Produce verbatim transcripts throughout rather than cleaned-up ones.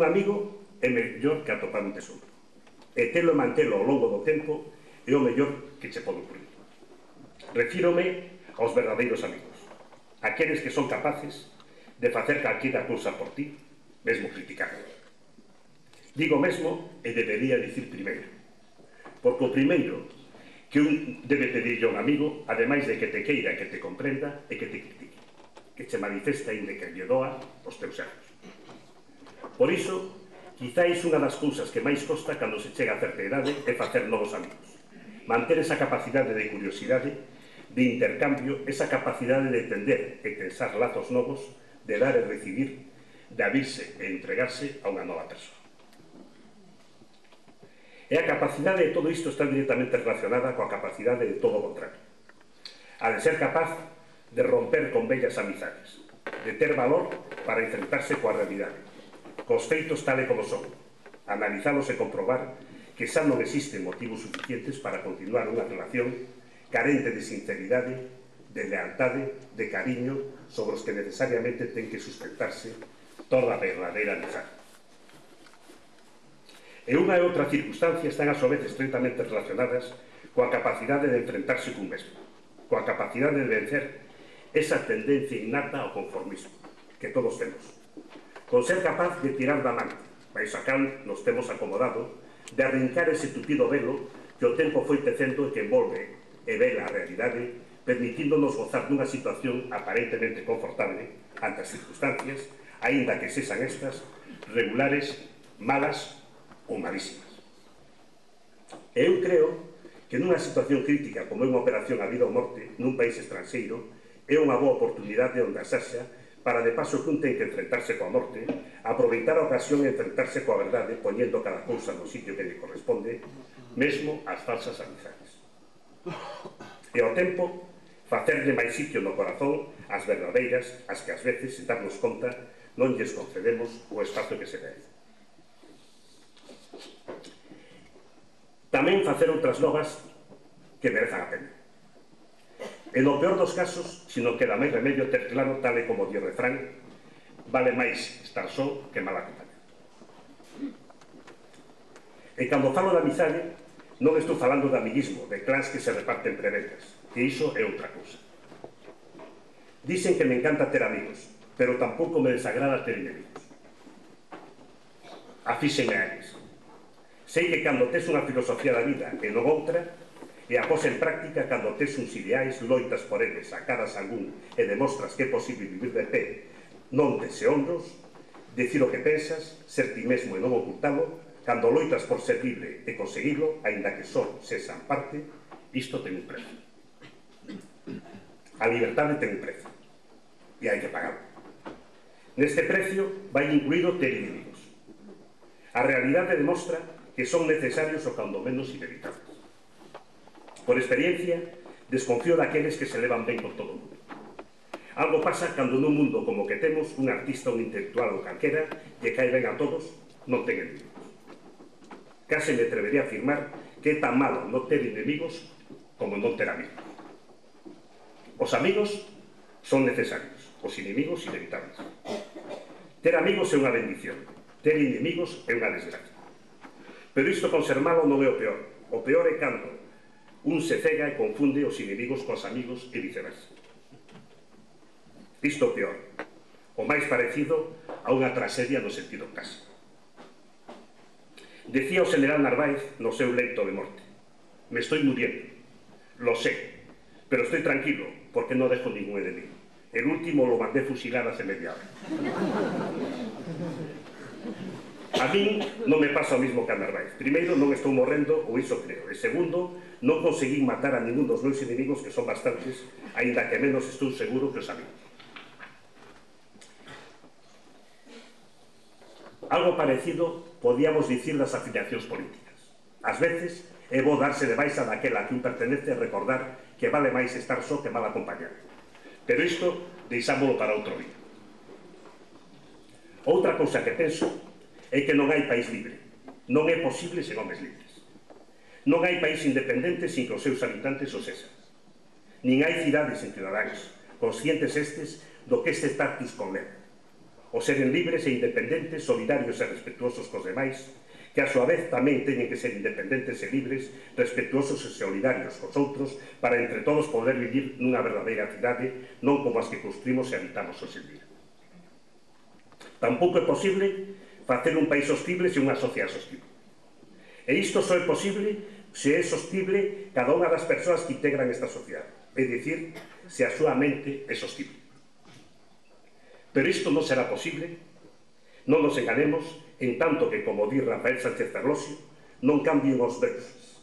un amigo é mellor que atopar un tesouro. E telo e mantelo ao longo do tempo é o mellor que che pode ocurrir. Refírome aos verdadeiros amigos, aqueles que son capaces de facer calquera cousa por ti, mesmo criticarlo. Digo mesmo e debería dicir primeiro, porque o primeiro que un debe pedirlle a un amigo, ademais de que te queira, que te comprenda e que te critique, que che manifesta e que lle doa os teus erros. Por iso, quizáis unha das cousas que máis costa cando se chega a certa idade é facer novos amigos. Manter esa capacidade de curiosidade, de intercambio, esa capacidade de entender e pensar lazos novos, de dar e recibir, de abrirse e entregarse a unha nova persoa. E a capacidade de todo isto está directamente relacionada coa capacidade de todo o contrario. A de ser capaz de romper con bellas amizades, de ter valor para enfrentarse coa realidade, cos feitos tal e como son, analizalos e comprobar que xa non existen motivos suficientes para continuar unha relación carente de sinceridade, de lealtade, de cariño, sobre os que necesariamente ten que sustentarse toda a verdadeira amizade. E unha e outra circunstancia están a súa vez estreitamente relacionadas coa capacidade de enfrentarse cun mesmo, coa capacidade de vencer esa tendencia innata ao conformismo que todos temos, con ser capaz de tirar da man, baixo a cal nos temos acomodado, de arrincar ese tupido velo que o tempo foi tecendo e que envolve e vela a realidade, permitíndonos gozar dunha situación aparentemente confortable ante as circunstancias, aínda que sexan estas regulares, malas ou malísimas. E eu creo que nunha situación crítica como é unha operación a vida ou morte nun país estranxeiro é unha boa oportunidade onde asaxa para de paso que un ten que enfrentarse coa morte, aproveitar a ocasión e enfrentarse coa verdade poñendo cada cousa no sitio que lle corresponde, mesmo as falsas amizades. E ao tempo, facerlle máis sitio no corazón as verdadeiras, as que ás veces, sen darnos conta, non lles concedemos o espazo que se merece. Tamén facer outras novas que merezan a pena. E no peor dos casos, se non queda máis remedio ter claro, tal e como di o refrán, vale máis estar só que mal acompañado. E cando falo de amizade, non estou falando de amiguismo, de clans que se reparten prebendas, que iso é outra cousa. Dicen que me encanta ter amigos, pero tampouco me desagrada ter inimigos. Afíxenme a eles. Sei que cando tes unha filosofía da vida e non outra, e a pos en práctica cando tes uns ideais, loitas por eles, sacadas algún e demostras que é posible vivir de pé, non tese hombros, dicir o que pensas, ser ti mesmo e non ocultalo, cando loitas por ser libre e conseguirlo, aínda que só sexan parte, isto ten un prezo. A liberdade ten un prezo, e hai que pagarlo. Neste precio vai incluído ter inimigos. A realidade demostra que son necesarios o cando menos inevitables. Por experiencia, desconfío daqueles que se levan ben con todo o mundo. Algo pasa cando nun mundo como que temos un artista, un intelectual ou calquera que cae ben a todos, non ten enemigos. Case me atrevería a afirmar que é tan malo non ter enemigos como non ter amigos. Os amigos son necesarios, os inimigos inevitables. Ter amigos é unha bendición, ter inimigos é unha desgracia. Pero isto con ser malo non é o peor. O peor é cando un se cega e confunde os inimigos cos amigos e viceversa. Isto é o peor. O máis parecido a unha tragedia no sentido clásico. Decía o general Narváez no seu leito de morte: me estoy muriendo, lo sé, pero estoy tranquilo porque non dejo ningún enemigo. El último lo mandé fusilar hace media hora. A min non me pasa o mismo que a Narváez. Primeiro, non estou morrendo, ou iso creo. E segundo, non conseguí matar a ningún dos meus inimigos, que son bastantes, aínda que menos estou seguro que os amigos. Algo parecido podíamos dicir das afiliacións políticas. Ás veces é bo darse de baixa daquela que un pertenece e recordar que vale máis estar só que mal acompañado. Pero isto deixámolo para outro día. Outra cousa que penso é que non hai país libre. Non é posible sen homes libres. Non hai país independente sin que os seus habitantes o sexan. Nin hai cidades sen cidadáns, conscientes estes do que este status conleva. o seren libres e independentes, solidarios e respetuosos cos demais, que a súa vez tamén teñen que ser independentes e libres, respetuosos e solidarios cos outros, para entre todos poder vivir nunha verdadeira cidade, non como as que construímos e habitamos hoxe en día. Tampouco é posible facer un país sostible se unha sociedade sostible. E isto só é posible se é sostible cada unha das persoas que integran esta sociedade, é dicir, se a súa mente é sostible. Pero isto non será posible, non nos enganemos, en tanto que, como di Rafael Sánchez Ferlosio, non cambien os deuses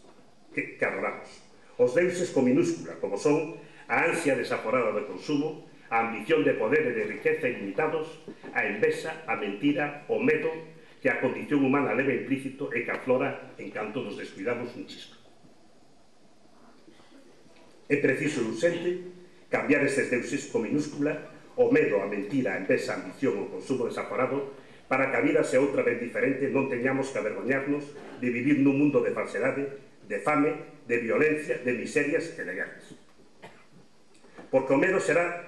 que, que adoramos. Os deuses con minúscula, como son a ansia desaforada de consumo, a ambición de poder e de riqueza ilimitados, a envexa, a mentira, o medo que a condición humana leva implícito e que aflora en canto nos descuidamos un chisco. É preciso e urxente cambiar estes deuses con minúscula, o medo, a mentira, a envexa, a ambición, o consumo desaforado, para que a vida sea outra vez diferente, non teñamos que avergoñarnos de vivir nun mundo de falsedade, de fame, de violencia, de miserias e de guerras. Porque o medo será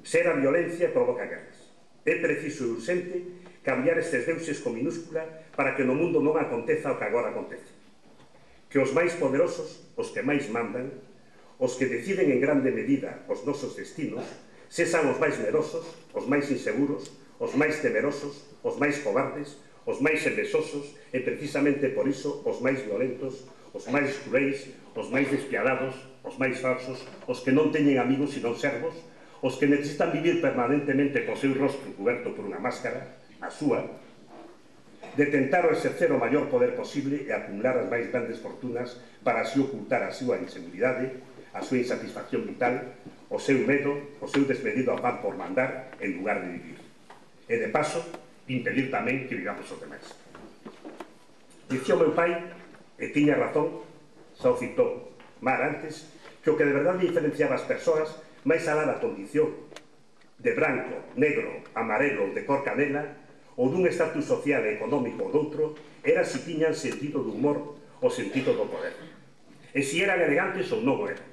ser a violencia e provoca guerras. É preciso e urxente cambiar estes deuses con minúscula para que no mundo non aconteza o que agora acontece. Que os máis poderosos, os que máis mandan, os que deciden en grande medida os nosos destinos, sexan os máis merosos, os máis inseguros, os máis temerosos, os máis cobardes, os máis envesosos e precisamente por iso os máis violentos, os máis cruéis, os máis despiadados, os máis falsos, os que non teñen amigos senón servos, os que necesitan vivir permanentemente co seu rostro coberto por unha máscara, a súa, de tentar exercer o maior poder posible e acumular as máis grandes fortunas para así ocultar a súa inseguridade, a súa insatisfacción vital, o seu medo, o seu desmedido afán por mandar en lugar de vivir. E, de paso, impedir tamén que vivamos os demais. Dicía o meu pai, e tiña razón, xa o citou Mar antes, que o que de verdade diferenciaba as persoas máis alá da condición de branco, negro, amarelo, de cor canela, ou dun estatus social e económico ou doutro, era se tiñan sentido do humor ou sentido do poder. E se eran elegantes ou non o eran.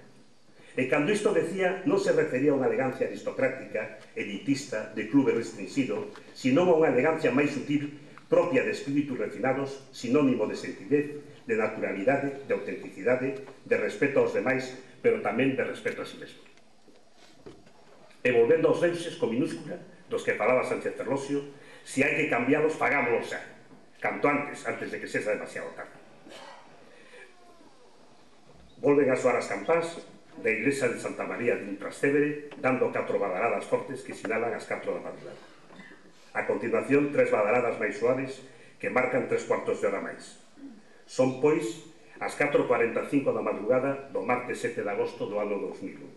E cando isto decía, non se refería a unha elegancia aristocrática, elitista, de clube restringido, sino a unha elegancia máis sutil, propia de espíritus refinados, sinónimo de sentidez, de naturalidade, de autenticidade, de respeto aos demais, pero tamén de respeto a si mesmo. E volvendo aos deuses con minúscula, dos que falaba Sánchez Ferlosio, se hai que cambiálos, fagámoslo xa, canto antes, antes de que sexa demasiado tarde. Volven a soar as campás da iglesia de Santa María de Trastevere, dando catro badaladas fortes que sinalan as catro da madrugada. A continuación, tres badaladas máis suaves que marcan tres cuartos de hora máis. Son, pois, as catro e cuarenta e cinco da madrugada do martes sete de agosto do ano dos mil un.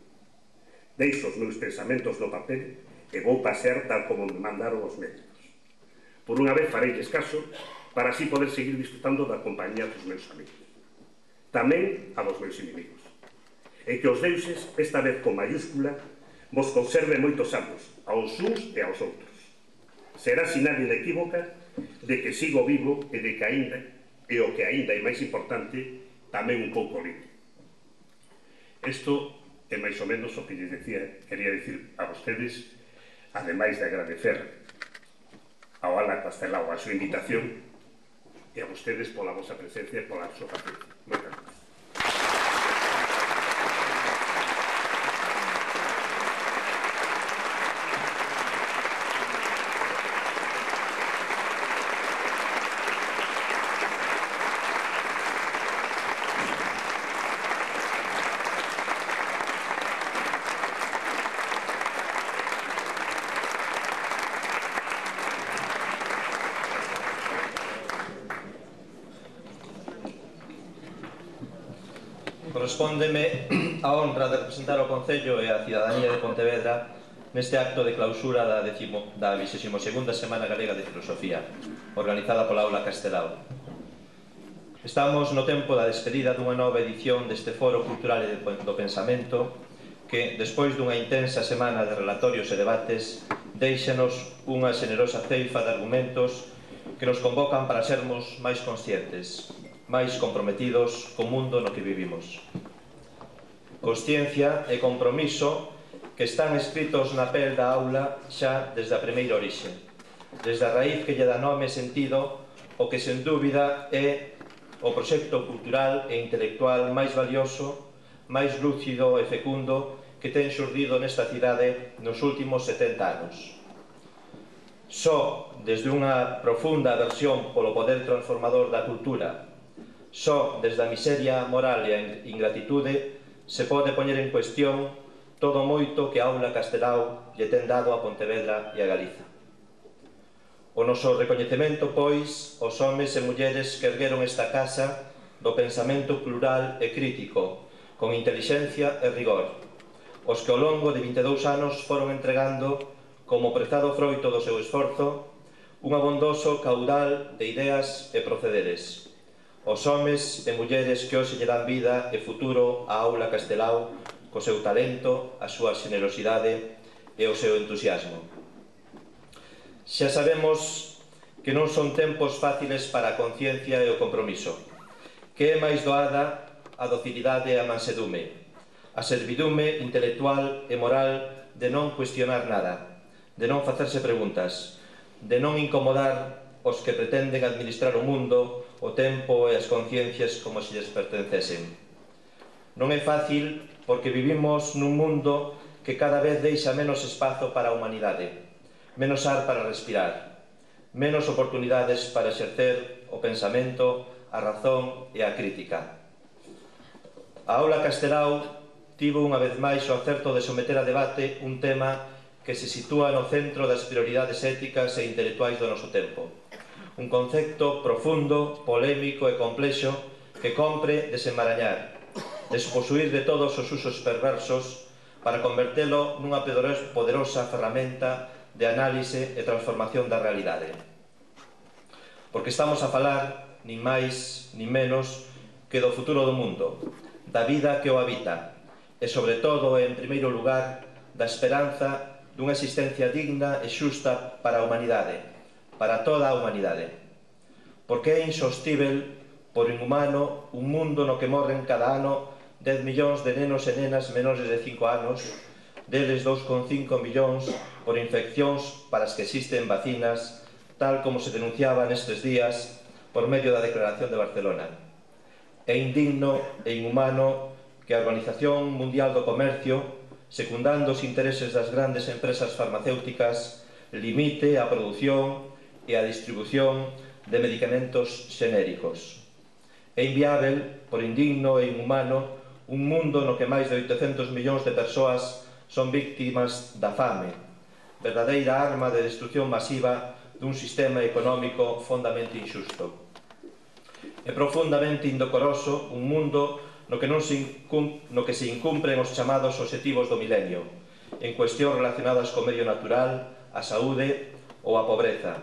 Deixo os meus pensamentos no papel e vou pasear tal como me mandaron os médicos. Por unha vez fareilles caso para así poder seguir disfrutando da compañía dos meus amigos. Tamén a dos meus inimigos. E que os deuses, esta vez con mayúscula, vos conserve moitos anos, aos uns e aos outros. Será sinal inequívoca de que sigo vivo e de que aínda, e o que aínda é máis importante, tamén un pouco libre. Isto é máis ou menos o que lles decía, quería dicir a vostedes, ademais de agradecer ao Ala Castelao a súa invitación e a vostedes pola vosa presencia e pola súa paciencia. Moitas gracias. Correspóndeme a honra de representar o Concello e a cidadanía de Pontevedra neste acto de clausura da vigésima segunda Semana Galega de Filosofía, organizada pola Aula Castelao. Estamos no tempo da despedida dunha nova edición deste Foro Cultural e do Pensamento que, despois dunha intensa semana de relatorios e debates, déixanos unha xenerosa ceifa de argumentos que nos convocan para sermos máis conscientes, máis comprometidos co mundo no que vivimos. Consciencia e compromiso que están escritos na pel da aula xa desde a primeira orixe, desde a raíz que lle dá nome e sentido o que sen dúbida é o proxecto cultural e intelectual máis valioso, máis lúcido e fecundo que ten xurdido nesta cidade nos últimos setenta anos. Só desde unha profunda aversión polo poder transformador da cultura, só desde a miseria moral e a ingratitude se pode poñer en cuestión todo moito que a Aula Castelao lle ten dado a Pontevedra e a Galiza. O noso recoñecemento, pois, aos homes e mulleres que ergueron esta casa do pensamento plural e crítico, con intelixencia e rigor, os que ao longo de vinte e dous anos foron entregando, como prezado froito do seu esforzo, un abondoso caudal de ideas e procederes. Os homes e mulleres que hoxe lle dan vida e futuro á Aula Castelao co seu talento, a súa xenerosidade e o seu entusiasmo. Xa sabemos que non son tempos fáciles para a conciencia e o compromiso, que é máis doada a docilidade e a mansedume, a servidume intelectual e moral de non cuestionar nada, de non facerse preguntas, de non incomodar os que pretenden administrar o mundo, o tempo e as conciencias como se lles pertencesen. Non é fácil porque vivimos nun mundo que cada vez deixa menos espazo para a humanidade, menos ar para respirar, menos oportunidades para exercer o pensamento, a razón e a crítica. A Aula Castelao tivo unha vez máis o acerto de someter a debate un tema que se sitúa no centro das prioridades éticas e intelectuais do noso tempo. Un concepto profundo, polémico e complexo que compre desenmarañar, desposuir de todos os usos perversos para convertelo nunha poderosa ferramenta de análise e transformación da realidade. Porque estamos a falar, nin máis nin menos, que do futuro do mundo, da vida que o habita, e sobre todo, en primeiro lugar, da esperanza dunha existencia digna e xusta para a humanidade, para toda a humanidade. Porque é insostível, por inhumano, un mundo no que morren cada ano dez millóns de nenos e nenas menores de cinco anos, deles dous coma cinco millóns por infeccións para as que existen vacinas, tal como se denunciaba nestes días por medio da Declaración de Barcelona. É indigno e inhumano que a Organización Mundial do Comercio, secundando os intereses das grandes empresas farmacéuticas, limite a produción e a distribución de medicamentos xenéricos. É inviável, por indigno e inhumano, un mundo no que máis de oitocentos millóns de persoas son víctimas da fame, verdadeira arma de destrucción masiva dun sistema económico fondamente injusto. É profundamente indecoroso un mundo no que, non se no que se incumpren os chamados obxectivos do milenio, en cuestións relacionadas co medio natural, a saúde ou a pobreza,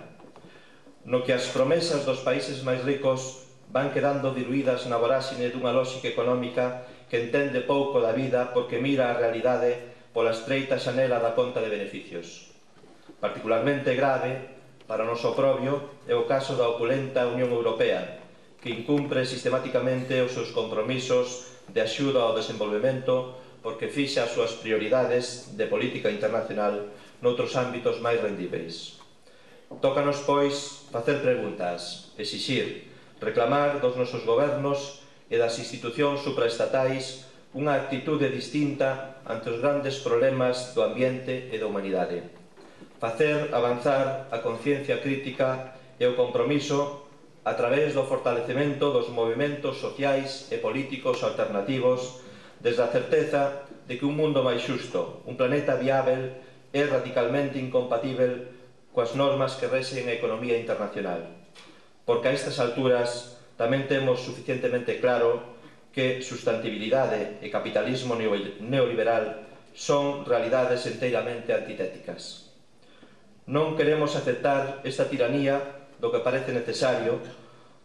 no que as promesas dos países máis ricos van quedando diluídas na voráxine dunha lóxica económica que entende pouco da vida porque mira a realidade pola estreita xanela da conta de beneficios. Particularmente grave, para o noso oprobio, é o caso da opulenta Unión Europea, que incumpre sistemáticamente os seus compromisos de axuda ao desenvolvemento porque fixa as súas prioridades de política internacional noutros ámbitos máis rendíveis. Tócanos, pois, facer preguntas, exixir, reclamar dos nosos gobernos e das institucións supraestatais unha actitude distinta ante os grandes problemas do ambiente e da humanidade. Facer avanzar a conciencia crítica e o compromiso a través do fortalecemento dos movimentos sociais e políticos alternativos desde a certeza de que un mundo máis xusto, un planeta viável, é radicalmente incompatível coas normas que rexen a economía internacional. Porque a estas alturas tamén temos suficientemente claro que sustantibilidade e capitalismo neoliberal son realidades enteiramente antitéticas. Non queremos aceptar esta tiranía do que parece necesario,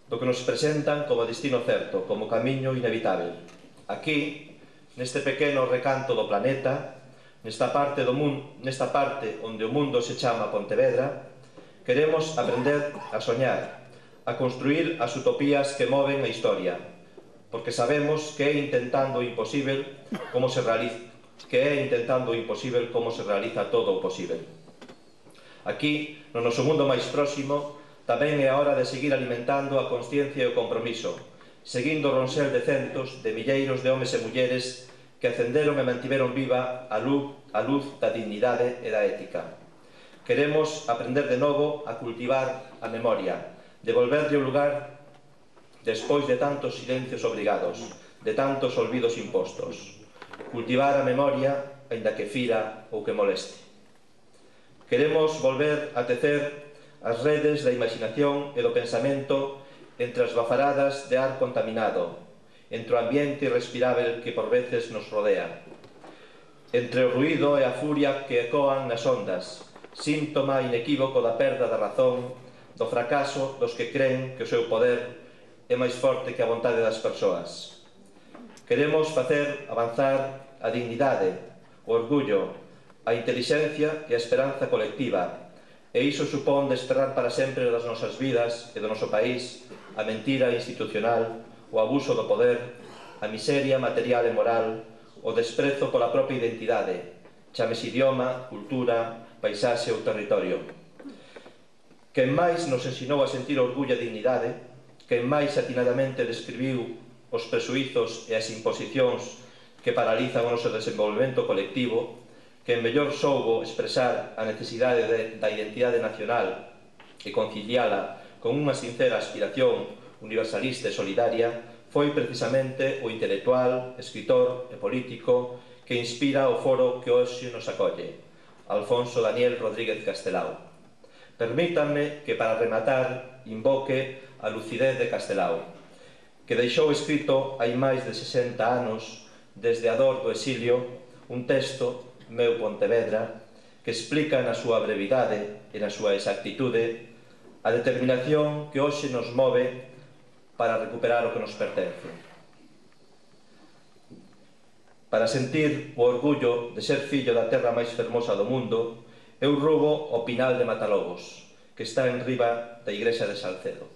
do que nos presentan como destino certo, como camiño inevitável. Aquí, neste pequeno recanto do planeta, nesta parte, do mundo, nesta parte onde o mundo se chama Pontevedra, queremos aprender a soñar, a construir as utopías que moven a historia, porque sabemos que é intentando o imposible como se realiza, que é intentando o imposible como se realiza todo o posible. Aquí, no noso mundo máis próximo, tamén é a hora de seguir alimentando a consciencia e o compromiso, seguindo o ronser de centos de milleiros de homes e mulleres que acenderon e mantiveron viva a luz, a luz da dignidade e da ética. Queremos aprender de novo a cultivar a memoria, devolverlle o lugar despois de tantos silencios obrigados, de tantos olvidos impostos. Cultivar a memoria, aínda que fira ou que moleste. Queremos volver a tecer as redes da imaginación e do pensamento entre as bafaradas de ar contaminado, entre o ambiente irrespirável que por veces nos rodea, entre o ruído e a furia que ecoan nas ondas, síntoma inequívoco da perda da razón, do fracaso dos que creen que o seu poder é máis forte que a vontade das persoas. Queremos facer avanzar a dignidade, o orgullo, a intelixencia e a esperanza colectiva, e iso supón desterrar para sempre das nosas vidas e do noso país a mentira institucional, o abuso do poder, a miseria material e moral, o desprezo pola propia identidade, chamese idioma, cultura, paisaxe ou territorio. Quen máis nos ensinou a sentir orgullo e dignidade, quen máis atinadamente describiu os presuizos e as imposicións que paralizan o noso desenvolvemento colectivo, quen mellor soubo expresar a necesidade de, da identidade nacional e conciliala con unha sincera aspiración universalista e solidaria, foi precisamente o intelectual, escritor e político que inspira o foro que hoxe nos acolle, Alfonso Daniel Rodríguez Castelao. Permítanme que para rematar invoque a lucidez de Castelao, que deixou escrito hai máis de sesenta anos desde a dor do exilio un texto, Meu Pontevedra, que explica na súa brevidade e na súa exactitude a determinación que hoxe nos move para recuperar o que nos pertence. Para sentir o orgullo de ser fillo da terra máis fermosa do mundo, eu rubo o Pinal de Matalobos, que está en riba da igrexa de Salcedo.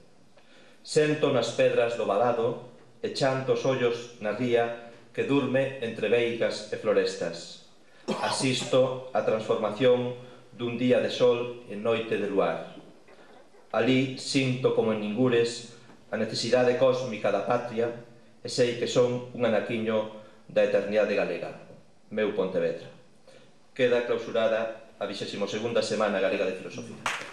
Sento nas pedras do valado e chanto os ollos na ría que durme entre veigas e florestas. Asisto a transformación dun día de sol en noite de luar. Alí sinto como en ningures a necesidade cósmica da patria e sei que son un anaquiño da eternidade galega. Meu Pontevedra. Queda clausurada a vigésima segunda Semana Galega de Filosofía.